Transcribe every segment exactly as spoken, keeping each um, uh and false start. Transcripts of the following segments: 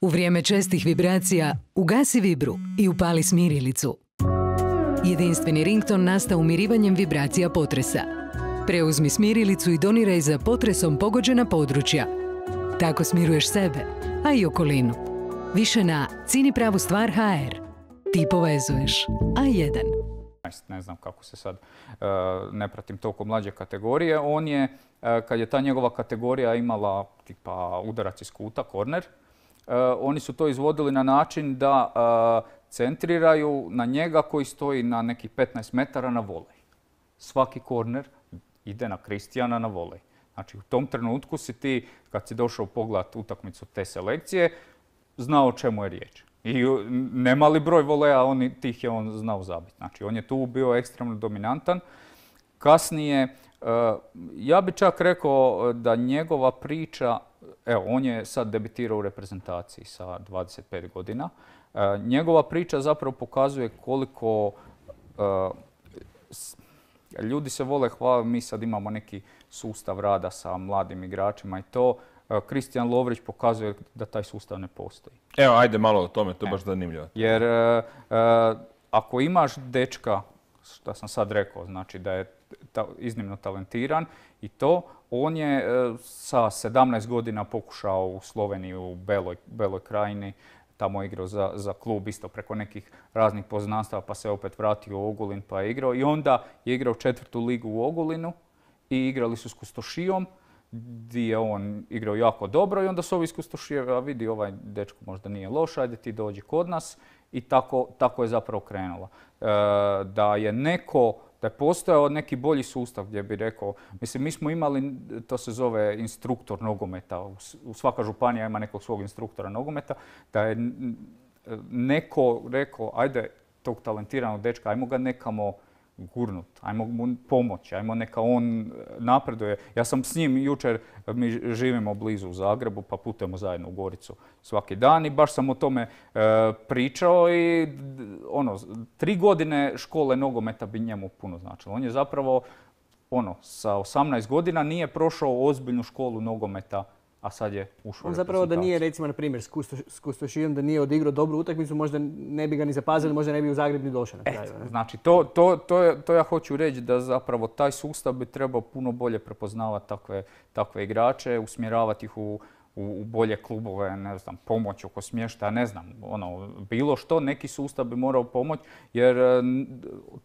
U vrijeme čestih vibracija ugasi vibru i upali smirilicu. Jedinstveni rington nastao umirivanjem vibracija potresa. Preuzmi smirilicu i doniraj za potresom pogođena područja. Tako smiruješ sebe, a i okolinu. Više na cini pravu stvar ha er. Ti povezuješ. A jedan. Ne znam kako se sad, ne pratim toliko mlađe kategorije. On je, kad je ta njegova kategorija imala tipa udarac iz kuta, korner, oni su to izvodili na način da centriraju na njega koji stoji na nekih petnaest metara na volej. Svaki korner ide na Kristijana na volej. Znači u tom trenutku si ti, kad si došao pogledati utakmicu te selekcije, znao o čemu je riječ. I nemali broj voleja, on, tih je on znao zabiti. Znači on je tu bio ekstremno dominantan. Kasnije, ja bi čak rekao da njegova priča, evo on je sad debitirao u reprezentaciji sa dvadeset pet godina, njegova priča zapravo pokazuje koliko uh, ljudi se vole hvaliti, mi sad imamo neki sustav rada sa mladim igračima i to. Kristijan Lovrić pokazuje da taj sustav ne postoji. Evo, ajde malo o tome, to je baš zanimljivo. Jer uh, uh, ako imaš dečka, što sam sad rekao, znači da je ta, iznimno talentiran i to, on je uh, sa sedamnaest godina pokušao u Sloveniji, u Beloj, Beloj krajini, tamo igrao za, za klub isto preko nekih raznih poznanstava, pa se opet vratio u Ogulin pa je igrao. I onda je igrao četvrtu ligu u Ogulinu i igrali su s Kustošijom, gdje je on igrao jako dobro i onda su ovi iz Kustošije, a vidi ovaj dečko možda nije loš, ajde ti dođi kod nas i tako, tako je zapravo krenulo. E, da je neko, da je postojao neki bolji sustav gdje bi rekao, mislim mi smo imali, to se zove instruktor nogometa, u svaka županija ima nekog svog instruktora nogometa, da je neko rekao, ajde tog talentiranog dečka, ajmo ga nekamo gurnut, ajmo mu pomoći, ajmo neka on napreduje. Ja sam s njim jučer, mi živimo blizu u Zagrebu, pa putujemo zajedno u Goricu svaki dan i baš sam o tome e, pričao i ono, tri godine škole nogometa bi njemu puno značilo. On je zapravo, ono, sa osamnaest godina nije prošao ozbiljnu školu nogometa, a sad je ušao. On zapravo da nije, recimo, na primjer, s Kustošijom, da nije odigrao dobru utakmicu, možda ne bi ga ni zapazili, možda ne bi u Zagreb ni došao na kraju. Et, znači, to, to, to, je, to ja hoću reći da zapravo taj sustav bi trebao puno bolje prepoznavati takve, takve igrače, usmjeravati ih u, u, u bolje klubove, ne znam, pomoć oko smještaja, ne znam, ono, bilo što, neki sustav bi morao pomoći, jer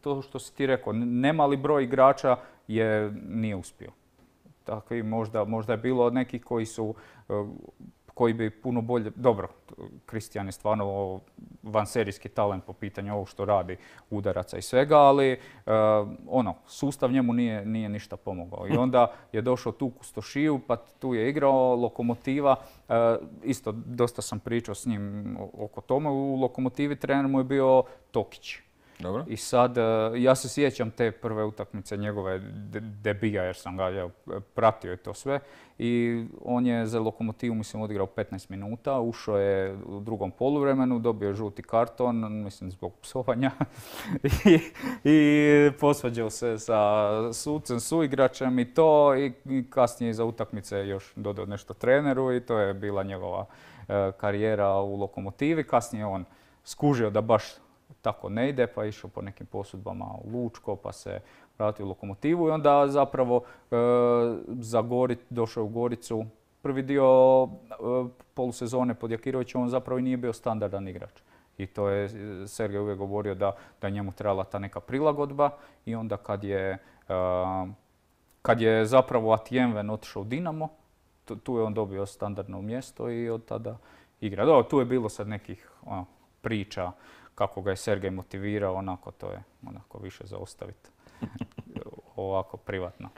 to što si ti rekao, nemali broj igrača je, nije uspio. Takvi, možda, možda je bilo nekih koji su, koji bi puno bolje, dobro, Kristijan je stvarno vanserijski talent po pitanju ovog što radi, udaraca i svega, ali uh, ono, sustav njemu nije, nije ništa pomogao. I onda je došao tu u Kustošiju, pa tu je igrao Lokomotiva, uh, isto dosta sam pričao s njim oko tome, u Lokomotivi trener mu je bio Tokić. Dobro. I sad, ja se sjećam te prve utakmice njegove debija jer sam ga ja, pratio i to sve. I on je za Lokomotivu, mislim, odigrao petnaest minuta, ušao je u drugom poluvremenu, dobio je žuti karton, mislim, zbog psovanja. I, i posvađao se sa sucem, suigračem i to. I kasnije za utakmice još dodao nešto treneru i to je bila njegova e, karijera u Lokomotivi. Kasnije on skužio da baš tako ne ide, pa je išao po nekim posudbama u Lučko, pa se vratio u Lokomotivu i onda zapravo e, za Gori, došao u Goricu. Prvi dio e, polusezone pod Jakirovićem on zapravo i nije bio standardan igrač. I to je Sergej uvijek govorio da, da njemu trebala ta neka prilagodba i onda kad je, e, kad je zapravo Atijenven otišao u Dinamo, tu, tu je on dobio standardno mjesto i od tada igra. Dobro, tu je bilo sad nekih ono, priča kako ga je Sergej motivirao, onako to je onako više za ostaviti ovako privatno.